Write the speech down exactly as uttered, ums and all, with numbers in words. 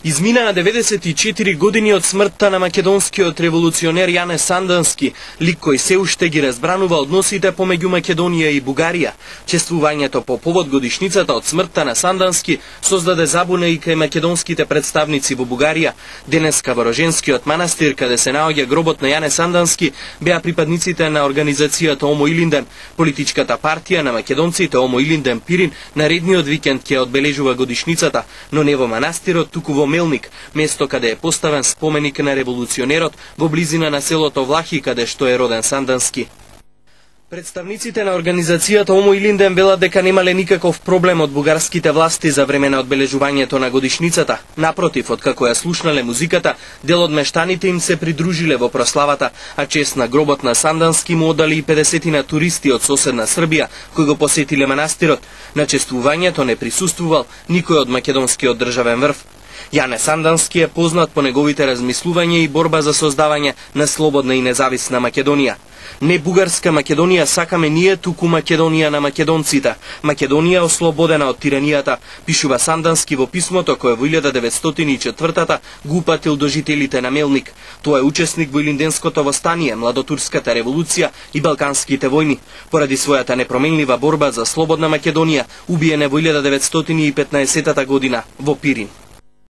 Измина на деветдесет и четири години од смртта на македонскиот револуционер Јане Сандански, лик кој се уште ги разбранува односите помеѓу Македонија и Бугарија. Чествувањето по повод годишницата од смртта на Сандански создаде забуна и кај македонските представници во Бугарија. Денеска во Роженскиот манастир, каде се наоѓа гробот на Јане Сандански, беа припадниците на организацијата Омо Илинден. Политичката партија на македонците Омо Илинден Пирин наредниот викенд ќе одбележува годишницата, но не во манастирот, туку во Мелник, место каде е поставен споменик на револуционерот во близина на селото Влахи, каде што е роден Сандански. Представниците на организацијата Омо Илинден велат дека немале никаков проблем од бугарските власти за време на одбележувањето на годишницата. Напротив, откако ја слушнале музиката, дел од мештаните им се придружиле во прославата, а чест на гробот на Сандански му оддали и педесетина туристи од соседна Србија, кои го посетиле манастирот. На чествувањето не присуствувал никој од македонскиот државен врв. Јане Сандански е познат по неговите размислувања и борба за создавање на слободна и независна Македонија. Не бугарска Македонија сакаме ние, туку Македонија на македонците. Македонија ослободена од тиранијата, пишува Сандански во писмото кое во илјада деветстотини и четвртата го упатил до жителите на Мелник. Тој е учесник во Илинденското востание, Младотурската револуција и Балканските војни. Поради својата непроменлива борба за слободна Македонија, убиен е во илјада деветстотини и петнаесетата година во Пирин.